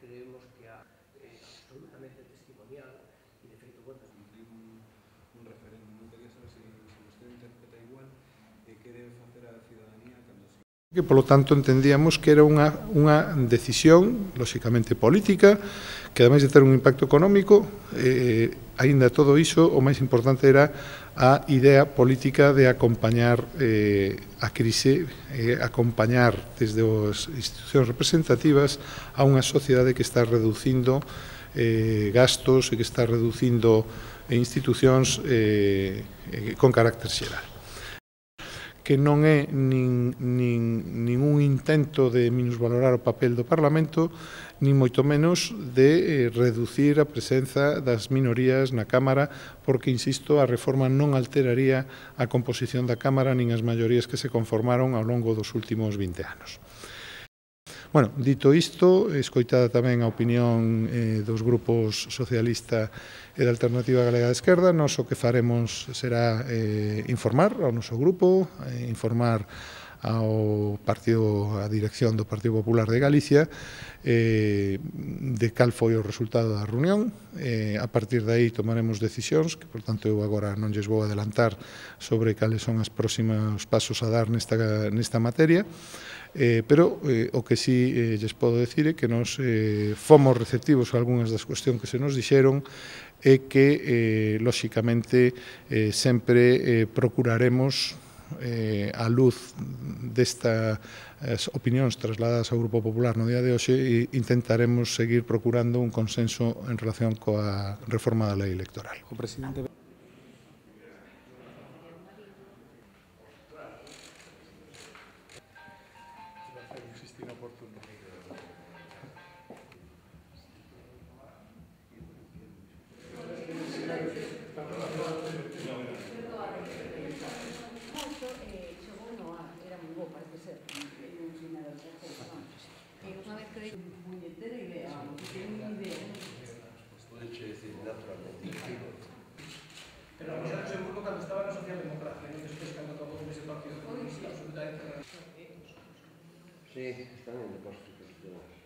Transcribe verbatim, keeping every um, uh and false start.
creemos que é eh, absolutamente testimonial e, de feito, bueno, un, un referéndum. Non quería saber se, se vostede interpreta igual e que debe facer a ciudadanía cando se... Que, polo tanto, entendíamos que era unha, unha decisión, lóxicamente política, que ademais de ter un impacto económico, eh, aínda todo iso, o máis importante era a idea política de acompañar eh, a crise, eh, acompañar desde as institucións representativas a unha sociedade que está reducindo eh, gastos e que está reducindo institucións eh, eh, con carácter xeral, que non é nin, nin, nin un intento de minusvalorar o papel do Parlamento, nin moito menos de eh, reducir a presenza das minorías na Cámara, porque, insisto, a reforma non alteraría a composición da Cámara nin as maiorías que se conformaron ao longo dos últimos vinte anos. Bueno, dito isto, escoitada tamén a opinión eh, dos grupos socialista e da Alternativa Galega de Esquerda, nós o que faremos será eh, informar ao noso grupo, eh, informar ao partido, a dirección do Partido Popular de Galicia eh, de cal foi o resultado da reunión. Eh, a partir de aí tomaremos decisións, que, por tanto, eu agora non lles vou adelantar sobre cales son os próximos pasos a dar nesta, nesta materia. Eh, pero eh, o que sí eh, lles podo decir é que nos eh, fomos receptivos a algunhas das cuestións que se nos dixeron e que, eh, lóxicamente, eh, sempre eh, procuraremos, eh, a luz destas opinións trasladadas ao Grupo Popular no día de hoxe, e intentaremos seguir procurando un consenso en relación coa reforma da lei electoral. O presidente... Oportuno. Pero a nosotros en Burgo cando estaba na socialdemocracia, non despois cando acabou con ese partido comunista, absolutamente... Sí, están en depósitos.